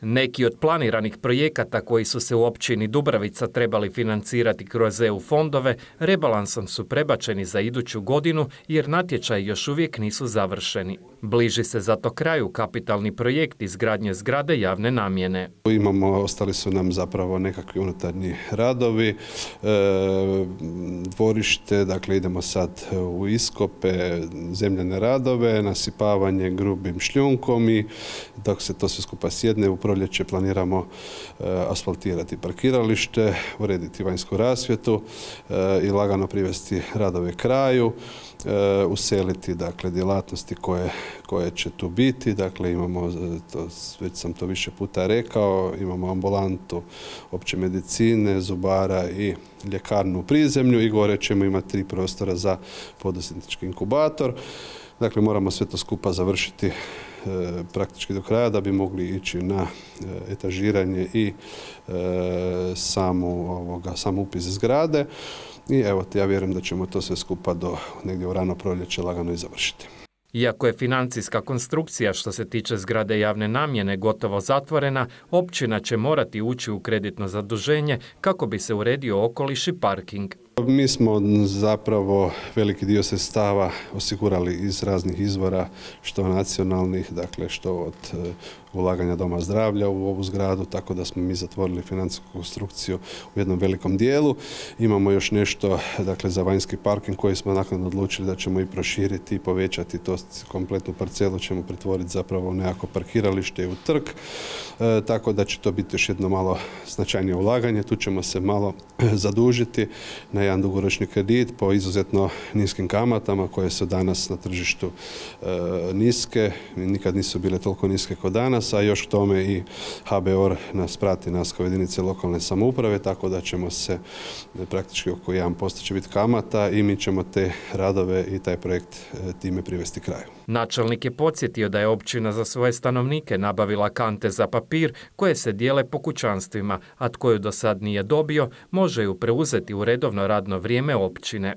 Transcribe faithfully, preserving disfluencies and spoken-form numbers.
Neki od planiranih projekata koji su se u općini Dubravica trebali financirati kroz E U fondove, rebalansom su prebačeni za iduću godinu jer natječaji još uvijek nisu završeni. Bliži se zato kraju kapitalni projekt izgradnje zgrade javne namjene. Imamo, ostali su nam zapravo nekakvi unutarnji radovi, e, dvorište, dakle idemo sad u iskope, zemljane radove, nasipavanje grubim šljunkom i dok se to sve skupa sjedne u proljeće planiramo e, asfaltirati parkiralište, urediti vanjsku rasvjetu e, i lagano privesti radove kraju, e, useliti dakle djelatnosti koje, koje će tu biti. Dakle imamo, to, već sam to više puta rekao, imamo ambulantu opće medicine, zubara i ljekarnu u prizemlju i gore ćemo imati tri prostora za poduzetnički inkubator. Dakle moramo sve to skupa završiti praktički do kraja da bi mogli ići na etažiranje i samu, ovoga, sam upis zgrade. I evo, ja vjerujem da ćemo to sve skupa do negdje u rano proljeće lagano i završiti. Iako je financijska konstrukcija što se tiče zgrade javne namjene gotovo zatvorena, općina će morati ući u kreditno zaduženje kako bi se uredio okoliš i parking. Mi smo zapravo veliki dio sredstava osigurali iz raznih izvora, što nacionalnih, dakle što od ulaganja Doma zdravlja u ovu zgradu, tako da smo mi zatvorili financijsku konstrukciju u jednom velikom dijelu. Imamo još nešto dakle, za vanjski parking koji smo naknadno odlučili da ćemo i proširiti i povećati to kompletnu parcelu, ćemo pretvoriti zapravo u nekako parkiralište i u trg, e, tako da će to biti još jedno malo značajnije ulaganje. Tu ćemo se malo zadužiti na jedan dugoročni kredit po izuzetno niskim kamatama koje su danas na tržištu e, niske, nikad nisu bile toliko niske kao danas, a još k tome i H B O R nas prati, nas kao jedinice lokalne samouprave, tako da ćemo se praktički oko jedan posto će biti kamata i mi ćemo te radove i taj projekt e, time privesti kraju. Načelnik je podsjetio da je općina za svoje stanovnike nabavila kante za papir koje se dijele po kućanstvima, a tko ju do sad nije dobio može ju preuzeti u redovno radno vrijeme općine.